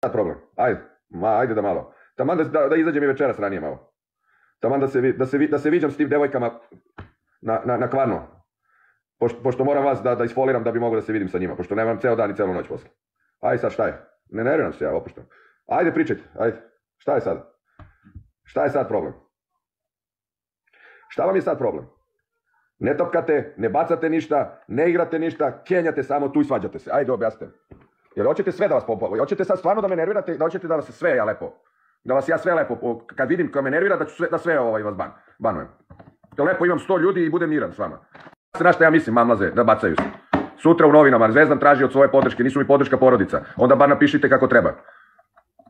sad problem? Ajde da malo. Taman da izađem i večeras ranije malo. Taman da se viđam s tim devojkama na Kvarnu. Pošto moram vas da isfoliram da bi mogao da se vidim sa njima. Pošto nemam ceo dan i celu noć posle. Ajde sad šta je? Ne nerviram se ja, opuštam. Ajde pričajte, ajde. Šta je sad? Šta je sad problem? Šta vam je sad problem? Ne topkate, ne bacate ništa, ne igrate ništa, kenjate samo tu i svađate se. Ajde objasnite. Jer hoćete sve da vas popovu. Hoćete sad stvarno da me nervirate, da hoćete da vas sve ja lepo. Da vas ja sve lepo, kad vidim ko me nervira, da sve vas banujem. Da lepo imam 100 ljudi i budem miran s vama. Znaš šta ja mislim, mamlaze, da bacaju se. Sutra u novinama Zvezdan traži od svoje podrške, nisu mi podrška porodica. Onda bar napišite kako treba.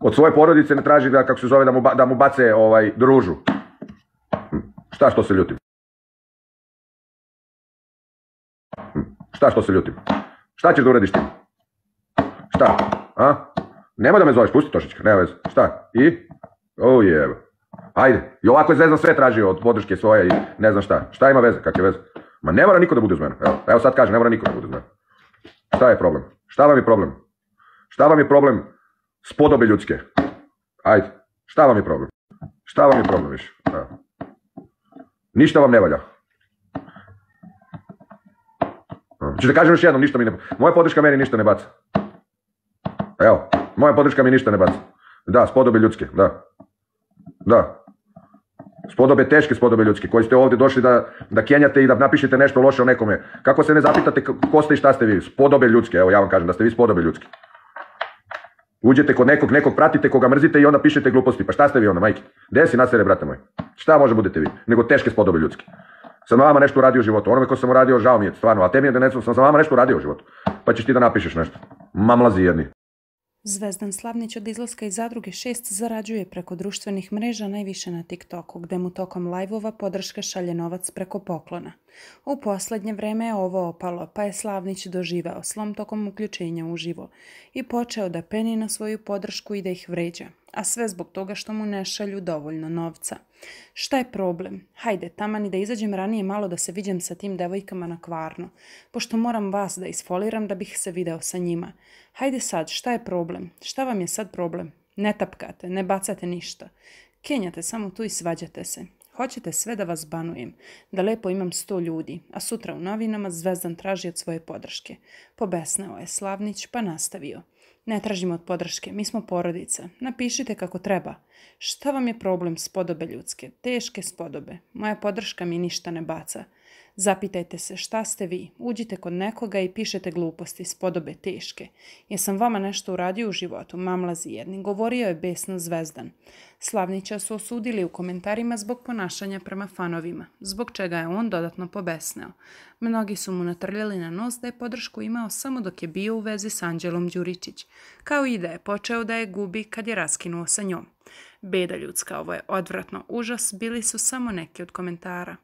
Od svoje porodice ne traži da, kako se zove, da mu bace družu. Šta što se ljutim? Šta što se ljutim? Šta ćeš da uradiš ti? Šta? A? Nemoj da me zoveš, pusti Tošićka, nema veze. Šta? I? Jebe. Ajde. I ovako je Zvezdan sve tražio od podrške svoje i ne znam šta. Šta ima veze? Kakve veze? Ma ne mora niko da bude uz mene. Evo sad kažem, ne mora niko da bude uz mene. Šta je problem? Šta vam je problem? Šta vam je problem spodobe ljudske? Ajde. Šta vam je problem? Šta vam je problem više? Ništa vam ne valja. Ću da kažem još jednom, ništa mi ne... Moja podrška meni ništa ne baca. Evo, moja podrška mi ništa ne baca. Da, spodobe ljudske, da. Da. Spodobe, teške spodobe ljudske, koji ste ovdje došli da kenjate i da napišete nešto loše o nekome. Kako se ne zapitate ko ste i šta ste vi? Spodobe ljudske, evo ja vam kažem da ste vi spodobe ljudske. Uđete kod nekog pratite, koga mrzite i onda pišete gluposti. Pa šta ste vi onda, majke? Gde si nasere, brate moj? Šta može budete vi? Nego teške spodobe ljudske. Sam na vama nešto uradio u životu. Onome ko sam uradio, žao mi je, stvarno. A te mi je da sam za vama nešto uradio u životu. Pa ćeš ti da napišeš nešto. Mamlazi jedni. Zvezdan Slavnić od izlaska iz Zadruge 6 zarađuje preko društvenih mreža, najviše na TikToku, gde mu tokom lajvova podrška šalje novac preko poklona. U poslednje vreme je ovo opalo, pa je Slavnić doživeo slom tokom uključenja uživo i počeo da peni na svoju podršku i da ih vređa, a sve zbog toga što mu ne šalju dovoljno novca. Šta je problem? Hajde, taman i da izađem ranije malo da se viđem sa tim devojkama na Kvarnu, pošto moram vas da isfoliram da bih se video sa njima. Hajde sad, šta je problem? Šta vam je sad problem? Ne tapkate, ne bacate ništa. Kenjate samo tu i svađate se. Hoćete sve da vas banujem, da lepo imam 100 ljudi, a sutra u novinama Zvezdan traži od svoje podrške. Pobesneo je Slavnić pa nastavio. Ne tražimo od podrške, mi smo porodica. Napišite kako treba. Šta vam je problem spodobe ljudske? Teške spodobe. Moja podrška mi ništa ne baca. Zapitajte se šta ste vi. Uđite kod nekoga i pišete gluposti, spodobe teške. Jesam vama nešto uradio u životu? Mamlazi jedni. Govorio je besno Zvezdan. Slavnića su osudili u komentarima zbog ponašanja prema fanovima, zbog čega je on dodatno pobesneo. Mnogi su mu natrljali na nos da je podršku imao samo dok je bio u vezi s Anđelom Đuričić, kao i da je počeo da je gubi kad je raskinuo sa njom. Beda ljudska, ovo je odvratno, užas, bili su samo neki od komentara.